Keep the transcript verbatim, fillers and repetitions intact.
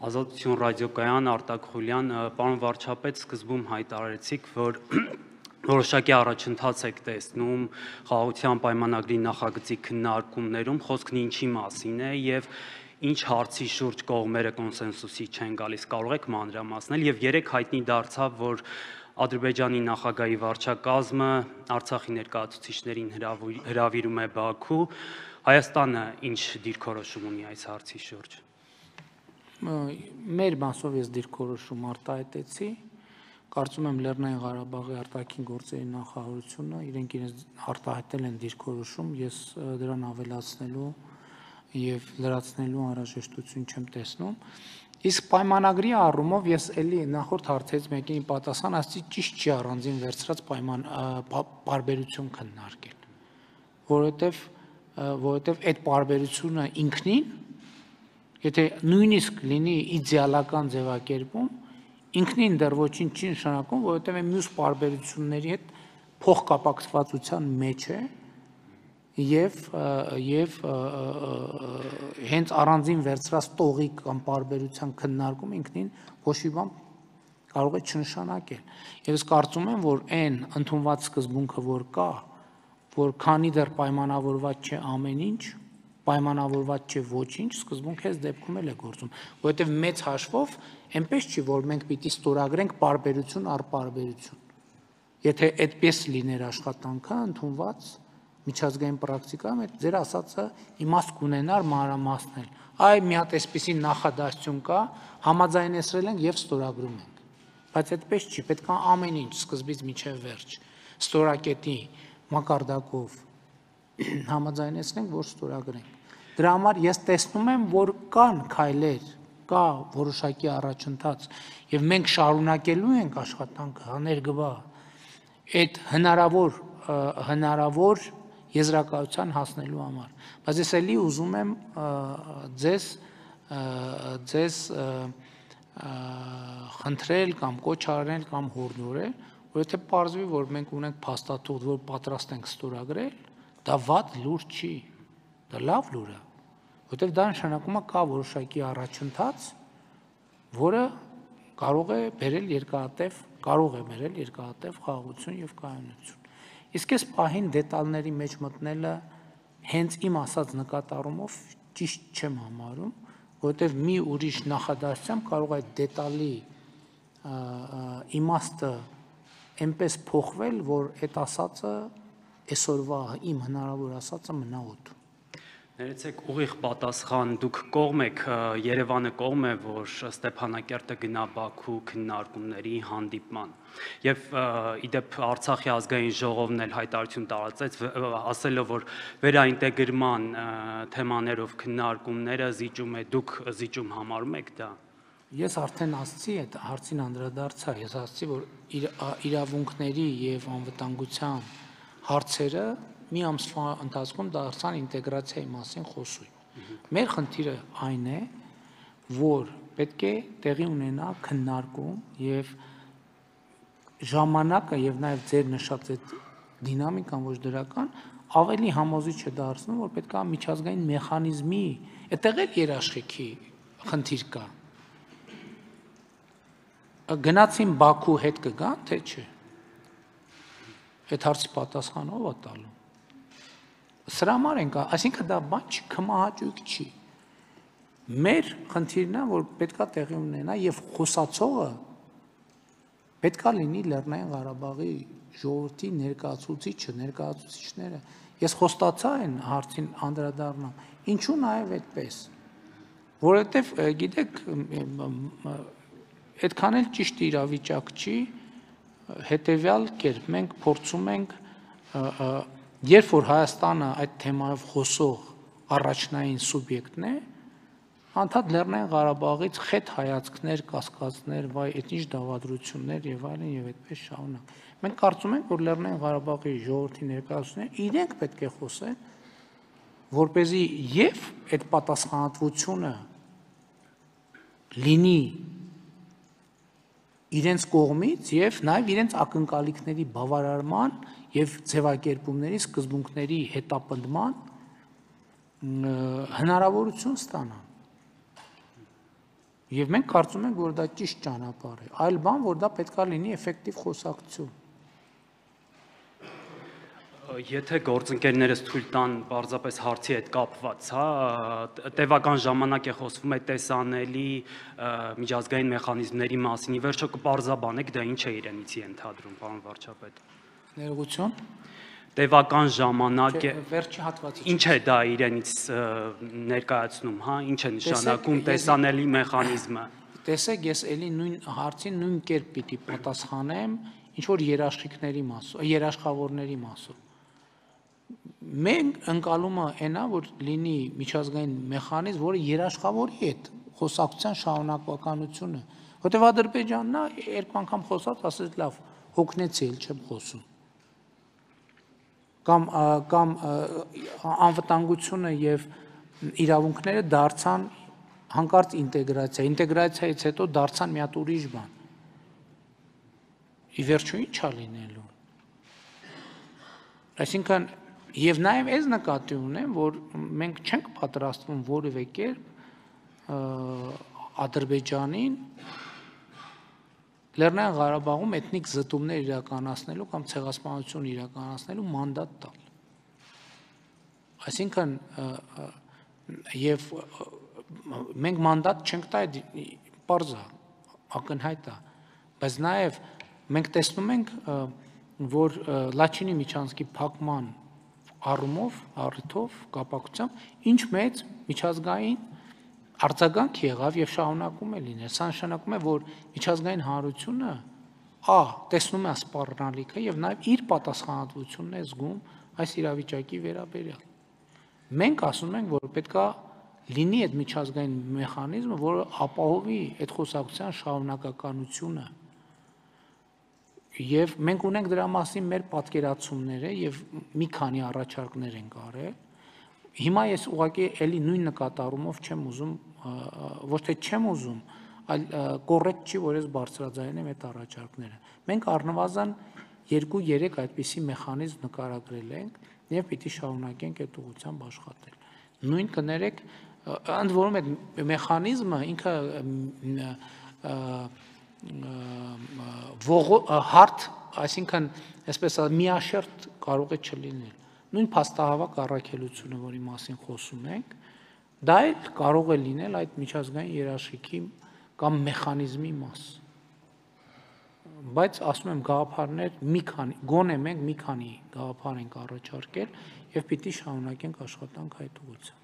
Ազատություն ռադիոկայան, Արտակ Խուլյան, պարոն վարչապետ, սկզբում հայտարարեցիք, որ որոշակի առաջընթաց եք տեսնում խաղաղության պայմանագրի նախագծի քննարկումներում, խոսքն ինչի մասին է եւ ինչ հարցի շուրջ կողմերը կոնսենսուսի չեն գալիս, կարող եք մանրամասնել եւ երեք հայտնի դարձավ, որ Ադրբեջանի նախագահի վարչակազմը Արցախի ներկայացուցիչներին հրավիրում է Բաքու, Հայաստանը ինչ դիրքորոշում ունի այս հարցի շուրջ։ Մեր մասով ես դիրքորոշում արտահայտեցի, կարծում եմ Լեռնային Ղարաբաղի արտաքին գործերի նախարարությունը իրենք իրենց արտահայտել են դիրքորոշում, ես դրան ավելացնելու եւ լրացնելու անհրաժեշտություն չեմ տեսնում։ Իսկ պայմանագրի առումով ես էլի նախորդ հարցերից մեկին պատասխան ասացի, ճիշտ չի առանձին վերցրած պայման պարբերություն քննարկել, որովհետեւ որովհետեւ այդ պարբերությունը ինքնին, եթե նույնիսկ լինի իդեալական ձևակերպում, ինքնին դեռ ոչինչ չի նշանակում, որովհետեւ այն մյուս պարբերությունների հետ փոխկապակցվածության մեջ է եւ եւ հենց առանձին վերցրած տողի կամ պարբերության քննարկում ինքնին ոչ մի բան կարող է չնշանակել։ Եվ ես կարծում եմ, որ այն ընդունված սկզբունքը, որ կա, որ քանի դեռ պայմանավորված չէ ամեն ինչ, պայմանավորված չէ ոչինչ, սկզբունքը այս դեպքում էլ է գործում, որովհետև մեծ հաշվով այնպես չի, որ մենք պիտի ստորագրենք պարբերություն առ պարբերություն։ Եթե այդպես լիներ աշխատանքը ընդունված միջազգային պրակտիկայում, այդ ձեր ասածը իմաստ կունենար մանրամասնել։ Այ մի հատ այսպիսի նախադասություն կա, համաձայնեցրել ենք եւ ստորագրում ենք։ Բայց այդպես չի, պետք է ամեն ինչ սկզբից մինչև վերջ ստորակետի մակարդակով համաձայնեցնենք, որ ստորագրենք։ Դրա համար ես տեսնում եմ, որ կան քայլեր, կա որոշակի առաջընթաց եւ մենք շարունակելու ենք աշխատանքը աներկբա այդ հնարավոր հնարավոր եզրակացության հասնելու համար։ Բայց ես էլի ուզում եմ ձեզ ձեզ խնդրել կամ կոչ արել կամ հորդորել, որովհետեւ պարզվի, որ մենք ունենք փաստաթուղթ, որ պատրաստ ենք ստորագրել, դա վատ լուր չի, դա լավ լուր է, որովհետեւ դա նշանակում է կա որոշակի առաջընթաց, որը կարող է բերել երկարատև, կարող է բերել երկարատև խաղաղություն եւ կայունություն։ Իսկ այս պահին դետալների մեջ մտնելը հենց իմ ասած նկատառումով ճիշտ չեմ համարում, որովհետև մի ուրիշ նախադասությամբ կարող է այդ դետալի իմաստը այնպես փոխվել, որ այդ ասածը այսօրվա իմ հնարավոր ասածը մնա օդում։ Ներեցեք ուղիղ պատասխան, դուք կողմ եք, Երևանը կողմ է, որ Ստեփանակերտը գնա Բաքու քննարկումների հանդիպման։ Եվ իդեպ Արցախի ազգային ժողովն էլ հայտարարություն տարածեց, ասելով, որ վերաինտեգրման թեմաներով քննարկումները զիջում է, դուք զիջում համարում եք դա։ Ես արդեն ասացի, այդ հարցին անդրադարձա, ես ասացի, որ իրավունքների եւ անվտանգության հարցերը մի ամսվա ընթացքում դարձան ինտեգրացիայի մասին խոսույթ։ Մեր խնդիրը այն է, որ պետք է տեղի ունենա քննարկում եւ ժամանակը եւ նաեւ ձեր նշած այդ դինամիկան ոչ դրական ավելի համոզիչ է դարձնում, որ պետք է միջազգային մեխանիզմի, այդտեղ էլ երաշխիքի խնդիր կա։ Գնացին Բաքու հետ կգան, թե չէ։ Այդ հարցի պատասխանը ով է տալու։ Սրա համար ենք, այսինքն դա բան չի, քմահաճույք չի։ Մեր խնդիրն է, որ պետքա տեղի ունենա եւ խոսացողը պետքա լինի Լեռնային Ղարաբաղի ժողովրդի ներկայացուցիչը, ներկայացուցիչները։ Ես խոստացա այն հարցին անդրադառնամ, ինչու նաեւ այդպես։ Որովհետեւ գիտեք, այդքան էլ ճիշտ իրավիճակ չի, հետեւյալ կերպ մենք փորձում ենք երբ որ Հայաստանը այդ թեմայով խոսող առաջնային սուբյեկտն է, անդադ Լեռնային Ղարաբաղից խետ հայացքներ, կասկածներ, վայ, այդ ինչ դավադրություններ եւ այլն եւ այդպես շարունակ։ Մենք կարծում ենք, որ Լեռնային Ղարաբաղի ժողովրդի ներկայացուցիչները իրենք պետք է խոսեն, որպեսզի եւ այդ պատասխանատվությունը լինի իրենց կողմից եւ նաեւ իրենց ակնկալիքների բավարարման եւ ձևակերպումների սկզբունքների հետապնդման հնարավորություն ստանան։ Եվ մենք կարծում ենք, որ դա ճիշտ ճանապարհ է, այլ բան, որ դա պետք է լինի էֆեկտիվ խոսակցություն։ Եթե գործընկերներս թույլ տան պարզապես հարցի հետ կապված, հա, տևական ժամանակ է խոսվում է տեսանելի միջազգային մեխանիզմների մասին, ի վերջո կպարզաբանեք դա ինչ է իրենից ենթադրում, պարոն վարչապետ։ Ներողություն։ Տևական ժամանակ է, վերջի հատվածը։ Ինչ է դա իրենից ներկայացնում, հա, ինչ է նշանակում տեսանելի մեխանիզմը։ Տեսեք, ես էլի նույն հարցին նույն կերպ պիտի պատասխանեմ, ինչ որ երաշխիքների մասով, երաշխավորների մասով։ Մենք ընկալումը այնա, որ լինի միջազգային մեխանիզմ, որը երաշխավորի հետ խոսակցության շարունակականությունը, որտեղ Ադրբեջանն է երկու անգամ խոսած, ասեց լավ, հոգնեցի, էլ չեմ խոսում։ Կամ կամ անվտանգությունը եւ իրավունքները դարձան հանկարծ ինտեգրացիա, ինտեգրացիայից հետո դարձան մի հատ ուրիշ բան։ Ի վերջո ի՞նչ է լինելու։ Այսինքն եւ նաեւ այս նկատի ունեմ, որ մենք չենք պատրաստվում որևէ կերպ Ադրբեջանին Լեռնային Ղարաբաղում էթնիկ զտումներ իրականացնելու կամ ցեղասպանություն իրականացնելու մանդատ տալ։ Այսինքն եւ մենք մանդատ չենք տա, պարզ է, ակնհայտ է, բայց նաեւ մենք տեսնում ենք, որ Լաչինի միջանցքի փակման առումով, առիթով, կապակցությամբ ինչ մեծ միջազգային արձագանք եղավ եւ շարունակում է լինել։ Սա նշանակում է, որ միջազգային հանրությունը ա տեսնում է սպառնալիքը եւ նաեւ իր պատասխանատվությունն է զգում այս իրավիճակի վերաբերյալ։ Մենք ասում ենք, որ պետքա լինի այդ միջազգային մեխանիզմը, որը ապահովի այդ խոսակցության շարունակականությունը։ Եվ մենք ունենք դրա մասին մեր պատկերացումները եւ մի քանի առաջարկներ ենք արել։ Հիմա ես ուղղակի էլի նույն նկատառումով չեմ ուզում, ոչ թե չեմ ուզում, այլ կոռեկտ չի, որ ես բարձրաձայնեմ այդ առաջարկները։ Մենք առնվազն երկու-երեք այդպիսի մեխանիզմ նկարագրել ենք եւ պիտի շարունակենք այդ ուղղությամբ աշխատել։ Նույն կներեք, ընդ որում այդ մեխանիզմը ինքը հարթ, այսինքն, այսպես ասած, միաշերտ կարող է չլինել։ Նույն փաստահավաք առաքելությունը, որի մասին խոսում ենք, դա էլ կարող է լինել այդ միջազգային երաշխիքի կամ մեխանիզմի մաս։ Բայց ասում եմ, գաղափարներ մի քանի, գոնե մենք մի քանի գաղափար ենք առաջարկել եւ պիտի շարունակենք աշխատանք այդ ուղղությամբ։